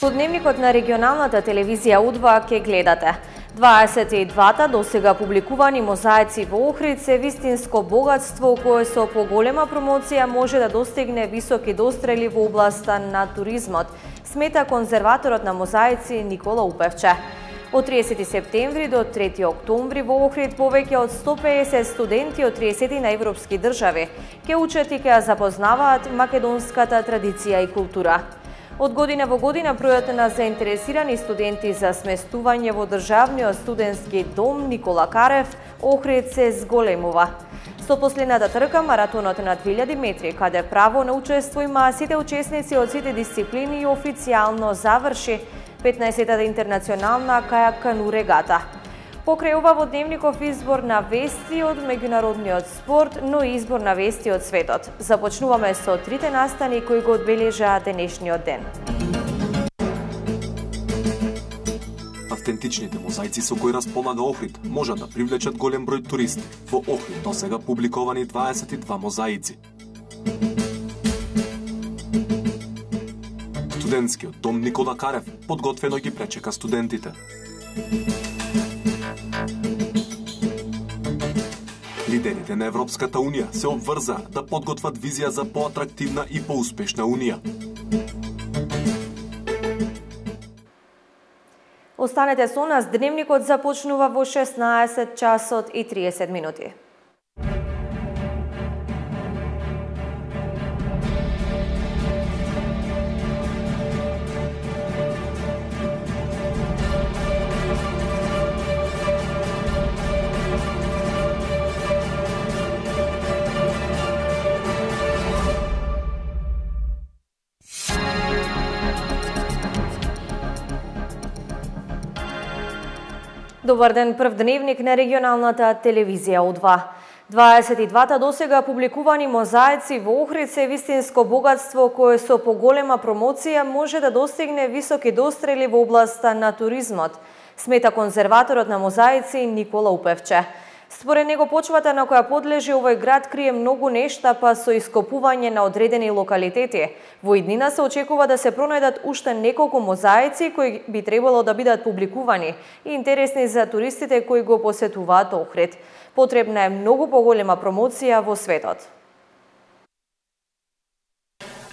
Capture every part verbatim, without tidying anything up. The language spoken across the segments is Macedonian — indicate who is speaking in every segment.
Speaker 1: Со дневникот на регионалната телевизија У два ке гледате. дваесет и двата досега публикувани мозаици во Охрид се вистинско богатство кое со поголема промоција може да достигне високи дострели во областа на туризмот, смета конзерваторот на мозаици Никола Упевче. Од триесети септември до трети октомври во Охрид повеќе од сто песет студенти од триесет на европски држави ќе учат и ќе ја запознаваат македонската традиција и култура. Од година во година бројот на заинтересирани студенти за сместување во државниот студентски дом Никола Карев Охрид се зголемува. Со последната трка маратонот на две илјади метри, каде право на учество има сите учесници од сите дисциплини, официјално заврши петнаесеттата интернационална кајак кану регата. Покрај ова во дневников избор на вести од меѓународниот спорт, но и избор на вести од светот. Започнуваме со трите настани кои го одбележаа денешниот ден.
Speaker 2: Автентичните мозаици со кои располага Охрид можат да привлечат голем број туристи. Во Охрид досега публикувани дваесет и два мозаици. Студентскиот дом Никола Карев подготвено ги пречека студентите. Лидерите на Европската Унија се обврзаа да подготват визија за поатрактивна и поуспешна Унија.
Speaker 1: Останете со нас, дневникот започнува во шеснаесет часот и триесет минути. Добар ден, прв дневник на регионалната телевизија У два. дваесет и двата досега публикувани мозаици во Охрид се вистинско богатство кое со поголема промоција може да достигне високи дострели во областа на туризмот, смета конзерваторот на мозаици Никола Упевче. Според него почвата на која подлежи овој град крие многу нешта, па со ископување на одредени локалитети. Во иднина се очекува да се пронајдат уште неколку мозаици кои би требало да бидат публикувани и интересни за туристите кои го посетуваат Охрид. Потребна е многу поголема промоција во светот.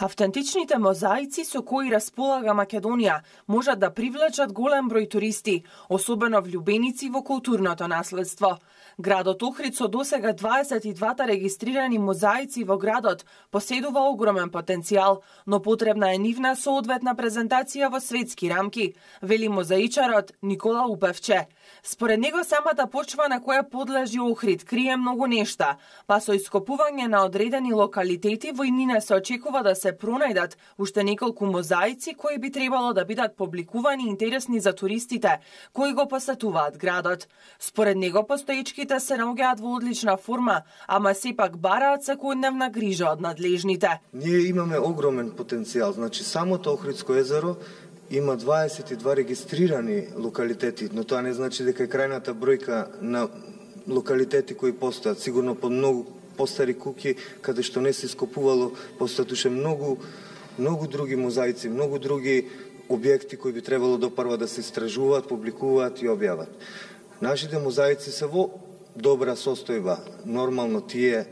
Speaker 3: Автентичните мозаици со кои располага Македонија можат да привлечат голем број туристи, особено влюбеници во културното наследство. Градот Охрид со досега дваесет и двата регистрирани мозаици во градот поседува огромен потенцијал, но потребна е нивна соодветна презентација во светски рамки, вели мозаичарот Никола Упевче. Според него самата почва на која подлежи Охрид крие многу нешта, па со ископување на одредени локалитети во иднина се очекува да се пронајдат уште неколку мозаици кои би требало да бидат публикувани интересни за туристите кои го посетуваат градот. Според него постоечките се наоѓаат во одлична форма, ама сепак бараат секојдневна грижа од надлежните.
Speaker 4: Ние имаме огромен потенцијал, значи самото Охридско езеро има дваесет и два регистрирани локалитети, но тоа не значи дека е крајната бројка на локалитети кои постојат. Сигурно по многу постари куќи, каде што не се ископувало, постојат уште многу, многу други мозаици, многу други објекти кои би требало допрва да се истражуваат, публикуваат и објават. Нашите мозаици се во добра состојба. Нормално тие,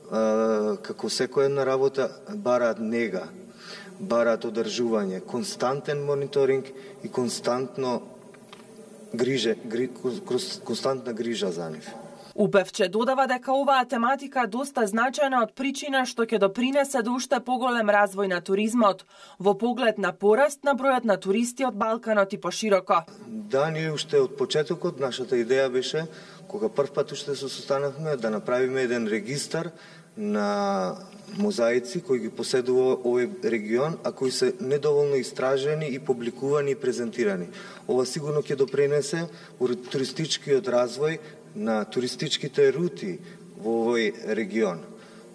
Speaker 4: како секоја една работа, бараат нега, бараат одржување, константен мониторинг и константно грижа, гри, константна грижа за нив.
Speaker 3: Упевче додава дека оваа тематика доста значајна од причина што ќе допринесе до уште поголем развој на туризмот, во поглед на пораст на бројот на туристи од Балканот и пошироко.
Speaker 4: Да, ние уште од почетокот нашата идеја беше, кога првпат уште се состанавме, да направиме еден регистар на мозаици кои ги поседува овој регион, а кои се недоволно истражени и публикувани и презентирани. Ова сигурно ќе допринесе туристичкиот развој на туристичките рути во овој регион.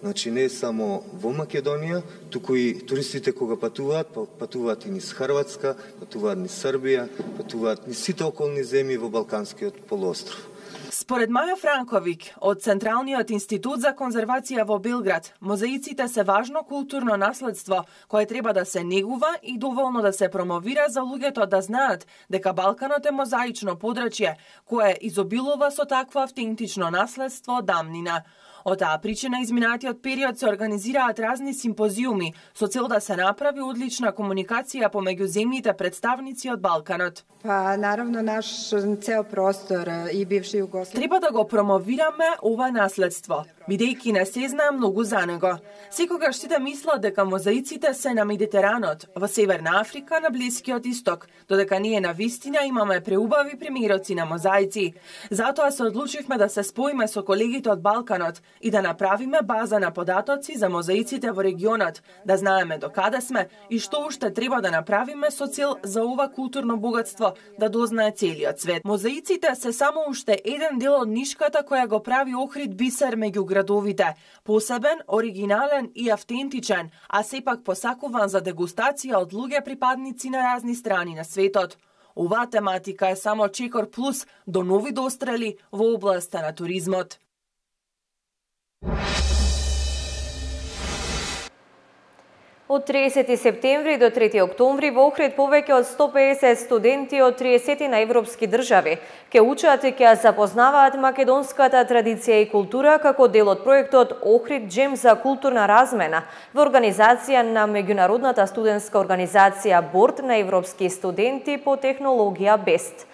Speaker 4: Значи не само во Македонија, туку и туристите кога патуваат, патуваат и низ Хрватска, патуваат низ Србија, патуваат низ сите околни земји во Балканскиот полуостров.
Speaker 3: Според Маја Франковик од Централниот институт за конзервација во Белград, мозаиците се важно културно наследство кое треба да се негува и доволно да се промовира за луѓето да знаат дека Балканот е мозаично подрачје кое изобилува со такво автентично наследство дамнина. Од таа причина изминатиот период се организираат разни симпозиуми со цел да се направи одлична комуникација помеѓу земјите представници од Балканот.
Speaker 5: Па наравно наш цел простор и бивши Југославија
Speaker 3: треба да го промовираме ова наследство, бидејќи не се знае многу за него. Секогаш сите мислат дека мозаиците се на Медитеранот, во Северна Африка, на Блискиот Исток, додека ние на вистина имаме преубави примероци на мозаици. Затоа се одлучивме да се споиме со колегите од Балканот и да направиме база на податоци за мозаиците во регионот, да знаеме докаде сме и што уште треба да направиме со цел за ова културно богатство да дознае целиот свет. Мозаиците се само уште еден дел од нишката која го прави Охрид бисер меѓу градовите, посебен, оригинален и автентичен, а сепак посакуван за дегустација од луѓе припадници на разни страни на светот. Оваа тематика е само чекор плюс до нови дострели во областа на туризмот.
Speaker 1: Од триесети септември до трети октомври во Охрид повеќе од сто педесет студенти од триесет на европски држави ќе учат и ќе запознаваат македонската традиција и култура како дел од проектот Охрид Джем за културна размена во организација на меѓународната студентска организација Борд на европски студенти по технологија Бест.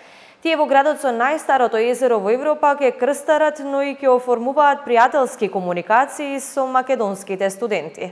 Speaker 1: Тие во градот со најстарото езеро во Европа ќе крстарат, но и ќе оформуваат пријателски комуникации со македонските студенти.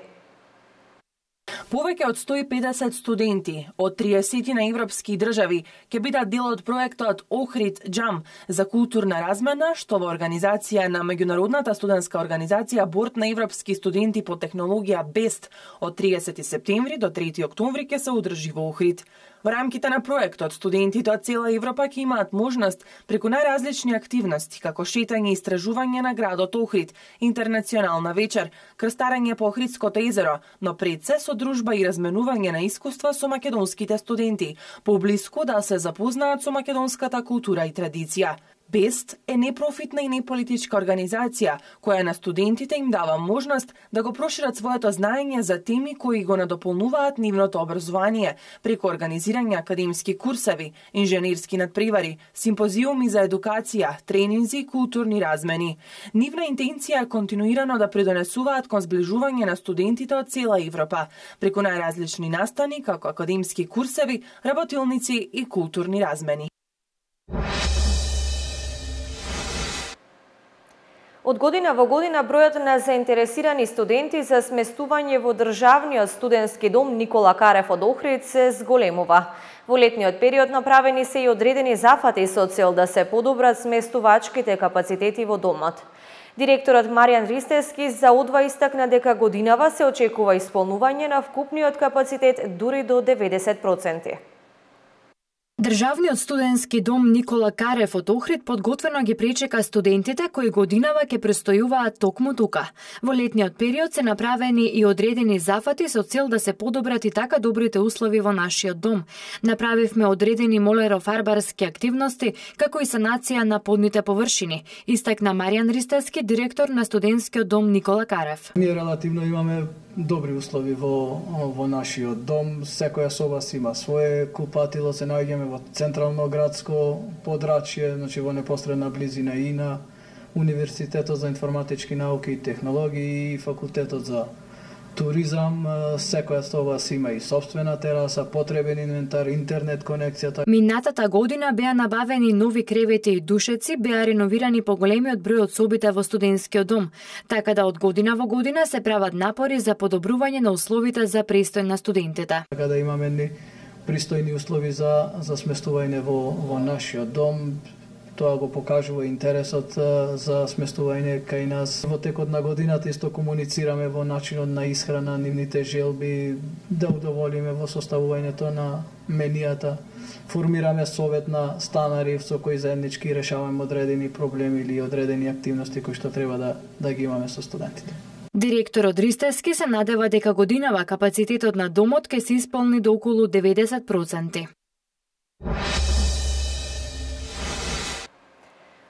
Speaker 3: Повеќе од сто и педесет студенти од триесет на европски држави ќе бидат дел од проектот Охрид Джам за културна размена, што во организација на меѓународната студентска организација Борд на европски студенти по технологија Бест од триесети септември до трети октомври ќе се одржи во Охрид. Во рамките на проектот, студентите од цела Европа ќе имаат можност преку најразлични активности, како шетање и истражување на градот Охрид, интернационална вечер, крстарење по Охридското езеро, но пред се со дружба и разменување на искуства со македонските студенти, поблиску да се запознаат со македонската култура и традиција. Бест е непрофитна и неполитичка организација која на студентите им дава можност да го прошират своето знаење за теми кои го надополнуваат нивното образование преку организирање академски курсеви, инженерски надпревари, симпозиуми за едукација, тренинзи и културни размени. Нивна интенција е континуирано да придонесуваат кон зближување на студентите од цела Европа преку најразлични настани како академски курсеви, работилници и културни размени.
Speaker 1: Од година во година бројот на заинтересирани студенти за сместување во државниот студентски дом Никола Карев од Охрид се зголемува. Во летниот период направени се и одредени зафати со цел да се подобрат сместувачките капацитети во домот. Директорот Маријан Ристевски за УДВА истакна дека годинава се очекува исполнување на вкупниот капацитет дури до деветдесет проценти.
Speaker 6: Државниот студентски дом Никола Карев од Охрид подготвено ги пречека студентите кои годинава ќе престојуваат токму тука. Во летниот период се направени и одредени зафати со цел да се подобрат и така добрите услови во нашиот дом. Направивме одредени молерофарбарски активности, како и санација на подните површини, истакна Маријан Ристевски, директор на студентскиот дом Никола Карев.
Speaker 7: Ние релативно имаме добри услови во во нашиот дом. Секоја соба си има свое купатило, се наоѓаме во централно градско подрачје, значи во непосредна близина и на Универзитетот за информатички науки и технологии и Факултетот за туризам. Секоја соба си има и сопствена тераса, потребен инвентар, интернет конекцијата.
Speaker 6: Минатата година беа набавени нови кревети и душеци, беа реновирани поголемиот број од собите во студентскиот дом, така да од година во година се прават напори за подобрување на условите за престој на студентите.
Speaker 7: Така да имаме ни пристојни услови за за сместување во во нашиот дом. Тоа го покажува интересот за сместување кај нас. Во текот на годината исто комуницираме во начинот на исхрана, нивните желби, да удоволиме во составувањето на менијата. Формираме совет на станари со кои заеднички решаваме одредени проблеми или одредени активности кои што треба да да ги имаме со студентите.
Speaker 6: Директорот Ристевски се надева дека годинава капацитетот на домот ќе се исполни до околу деветдесет проценти.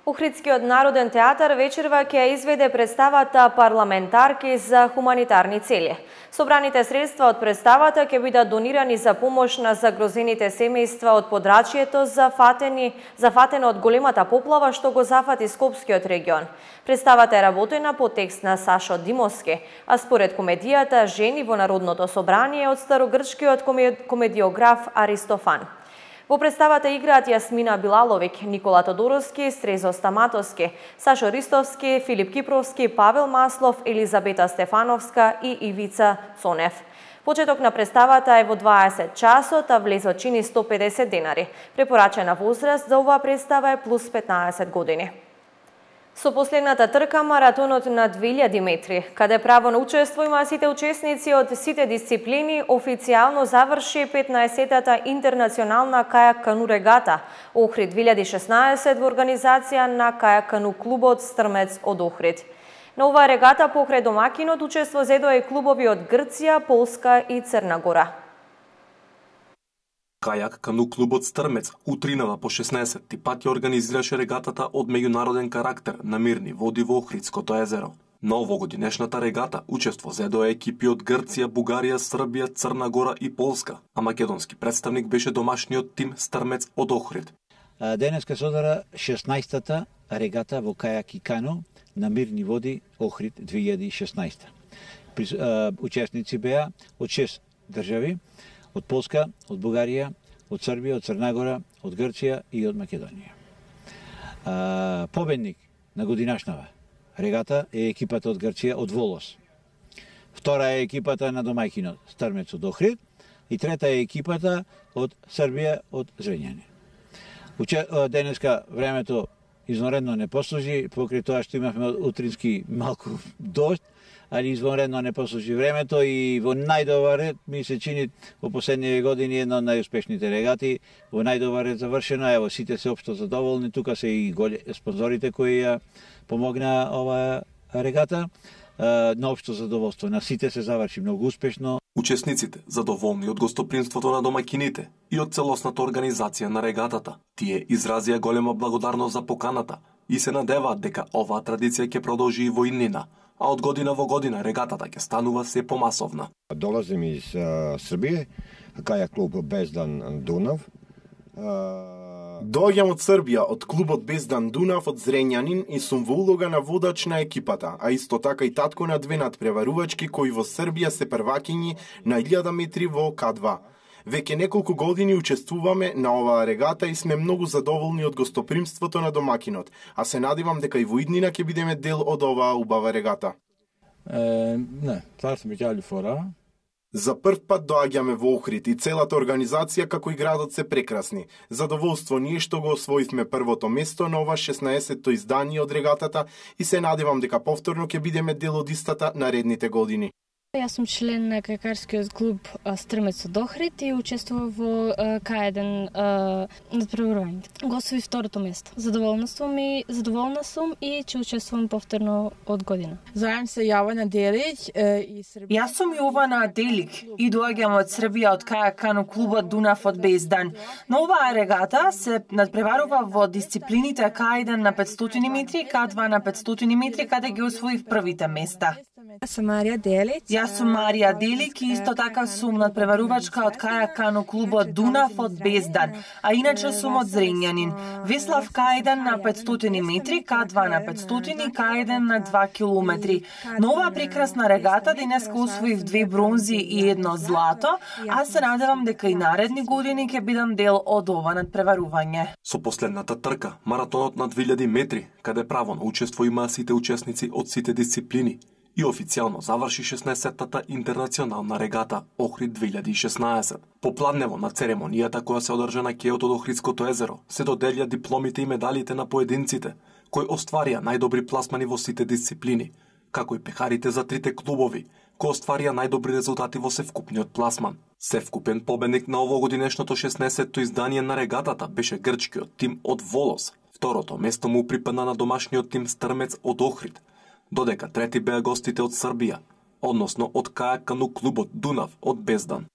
Speaker 1: Охридскиот народен театар вечерва ќе изведе представата Парламентарки за хуманитарни цели. Собраните средства од представата ќе бидат донирани за помош на загрозените семејства од подрачјето зафатени, зафатено од големата поплава што го зафати Скопскиот регион. Представата е работена по текст на Сашо Димовски, а според комедијата Жени во Народното собрание од старогрчкиот комедиограф Аристофан. Во представата играат Јасмина Билаловик, Никола Тодоровски, Стрезо Стаматовски, Сашо Ристовски, Филип Кипровски, Павел Маслов, Елизабета Стефановска и Ивица Цонев. Почеток на представата е во дваесет часот, а влезот чини сто педесет денари. Препорачена возраст за оваа представа е плюс петнаесет години. Со последната трка маратонот на две илјади метри, каде право на учество има сите учесници од сите дисциплини, официјално заврши петнаесеттата интернационална кајак кану регата Охрид две илјади шеснаесет во организација на кајак кану клубот Стрмец од Охрид. На оваа регата покрај домакинот учество зедоа и клубови од Грција, Полска и Црна Гора.
Speaker 2: Кајак кану клубот Стрмец утринава по шеснаесетти пат ја организираше регатата од меѓународен карактер на мирни води во Охридското езеро. На овогодинешната регата учество зедоа екипи од Грција, Бугарија, Србија, Црна Гора и Полска, а македонски представник беше домашниот тим Стрмец од Охрид.
Speaker 8: Денеска се одара шеснаесеттата регата во кајак и кану на мирни води Охрид две илјади шеснаесета. Учесници беа од шест држави, од Полска, од Бугарија, од Србија, од Црна Гора, од Грција и од Македонија. А, победник на годинашнава регата е екипата од Грција од Волос. Втора е екипата на домајкинот Стрмец од Охрид и трета е екипата од Србија од Зрењани. Уче... Денеска времето извонредно не послужи, покрај тоа што имавме утрински малку дожд, али извонредно не послужи времето и во најдобар ред ми се чини во последниве години една од најуспешните регати, во најдобар ред завршено, ево сите се општо задоволни, тука се и голе спонзорите кои ја помогна оваа регата, на општо задоволство на сите се заврши многу успешно.
Speaker 2: Учесниците задоволни од гостопримството на домаќините и од целосната организација на регатата, тие изразија голема благодарност за поканата и се надеваат дека оваа традиција ќе продолжи и во иднина, а од година во година регатата ќе станува се помасовна.
Speaker 9: Долазим из uh, Србија, кајак клуб Бездан Дунав. Uh...
Speaker 10: Доаѓам од Србија, од клубот Бездан Дунав од Зрењанин и сум во улога на водач на екипата, а исто така и татко на две надпреварувачки кои во Србија се првакињи на илјада метри во К два. Веќе неколку години учествуваме на оваа регата и сме многу задоволни од гостопримството на домакинот, а се надевам дека и во иднина ќе бидеме дел од оваа убава регата.
Speaker 11: Е, не, това сме ќали фора.
Speaker 10: За прв пат доаѓаме во Охрид и целата организација како и градот се прекрасни. Задоволство ние што го освоивме првото место на ова шеснаесетто издание од регатата и се надевам дека повторно ќе бидеме дел од истата наредните години.
Speaker 12: Јас сум член на кајакарскиот клуб Стрмец од Охрид и учествував во К еден надпреварувањето. Го освоив второто место. Задоволна сум и задоволна сум и ќе учествувам повторно од година.
Speaker 13: Зовем се Јована Делик и Србија.
Speaker 3: Јас сум Јована Делик и доаѓам од Србија од кајак кану клубот Дунав од Бездан. На оваа регата се надпреварува во дисциплините К еден на петстотини метри и К два на петстотини метри, каде ги освоив првите места.
Speaker 13: Јас сум Марија Делик.
Speaker 3: Јас сум Марија Делик и исто така сум надпреварувачка од кајак кану клубот Дунав од Бездан, а иначе сум од Зрењанин. Веслав К еден на петстотини метри, К два на петстотини, К еден на два километри. На оваа прекрасна регата денеска освоив две бронзи и едно злато, а се надевам дека и наредни години ќе бидам дел од ова надпреварување.
Speaker 2: Со последната трка, маратонот на две илјади метри, каде право на учество имаа сите учесници од сите дисциплини, и официјално заврши шеснаесеттата интернационална регата Охрид две илјади шеснаесет. Попладнево на церемонијата која се одржа на кејот од Охридското езеро, се доделија дипломите и медалите на поединците, кои остварија најдобри пласмани во сите дисциплини, како и пехарите за трите клубови, кои остварија најдобри резултати во севкупниот пласман. Севкупен победник на овогодинешното шеснаесетто издание на регатата беше грчкиот тим од Волос. Второто место му припадна на домашниот тим Стрмец од Охрид, додека трети беа гостите од Србија, односно од кајак кану клубот Дунав од Бездан.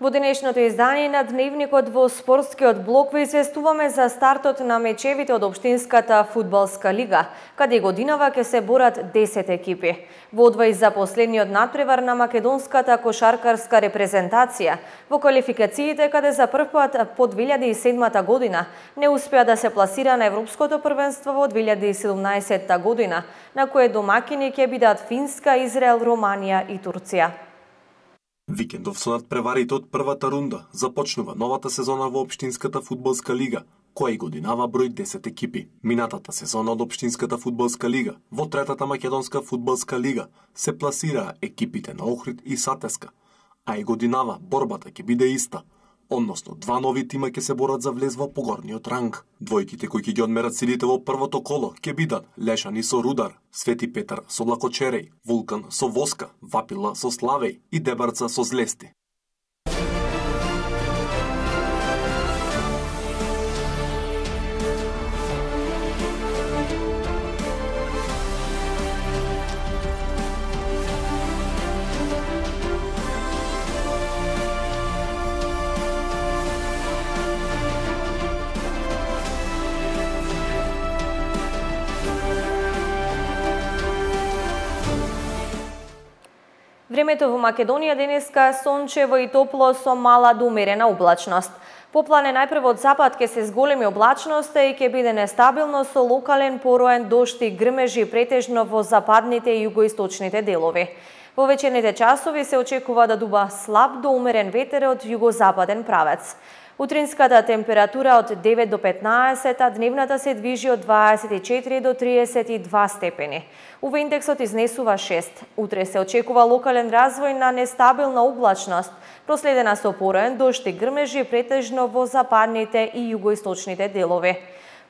Speaker 1: Во денешното издание на Дневникот во спортскиот блок ви известуваме за стартот на мечевите од Општинската фудбалска лига, каде годинава ќе се борат десет екипи. Во одвој за последниот надпревар на македонската кошаркарска репрезентација, во квалификациите каде за прв пат по две илјади и седма година не успеа да се пласира на Европското првенство во две илјади и седумнаесетта година, на кое домакини ќе бидат Финска, Израел, Романија и Турција.
Speaker 2: Викендов со надпреварите од првата рунда започнува новата сезона во Општинската фудбалска лига, која и годинава број десет екипи. Минатата сезона од Општинската фудбалска лига во третата македонска фудбалска лига се пласираа екипите на Охрид и Сатеска, а и годинава борбата ќе биде иста, односно два нови тима ќе се борат за влез во погорниот ранг. Двојките кои ќе ги одмерат силите во првото коло ќе бидат Лешани со Рудар, Свети Петар со Лакочереј, Вулкан со Воска, Вапила со Славеј и Дебарца со Злести.
Speaker 1: Времето во Македонија денеска сончево и топло со мала до умерена облачност. Поплане најпрво од запад ќе се зголеми облачноста и ќе биде нестабилно со локален пороен дожд и грмежи претежно во западните и југоисточните делови. Во вечерните часови се очекува да дуба слаб до умерен ветер од југозападен правец. Утринската температура од девет до петнаесет, а дневната се движи од дваесет и четири до триесет и два степени. У ва индексот изнесува шест. Утре се очекува локален развој на нестабилна облачност, проследена со пороен дожд и грмежи претежно во западните и југоисточните делови.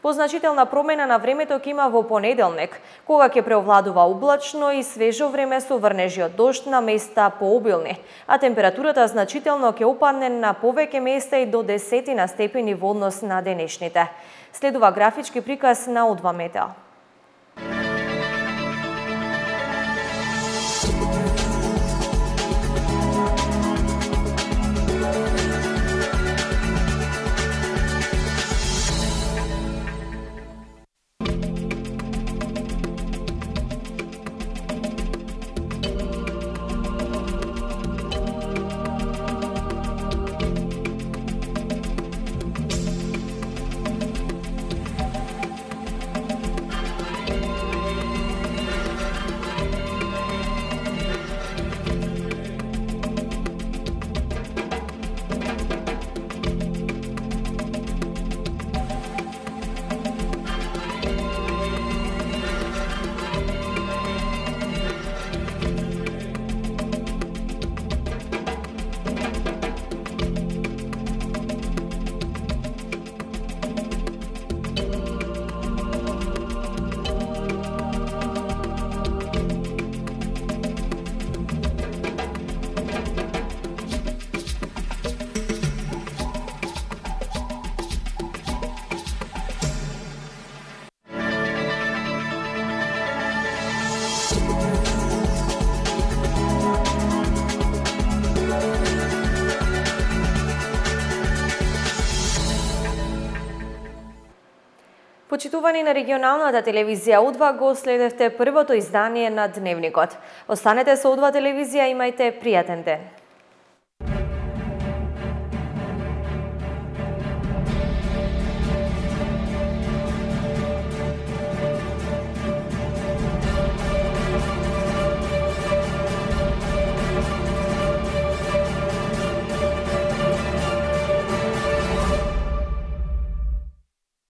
Speaker 1: Позначителна промена на времето ќе има во понеделник, кога ќе преовладува облачно и свежо време со врнежи од дожд на места пообилни, а температурата значително ќе опадне на повеќе места и до десетина степени во однос на денешните. Следува графички приказ на Одва Метео. Почитувани на регионалната телевизија Удва, го следевте првото издание на Дневникот. Останете со Удва телевизија, имајте пријатен ден.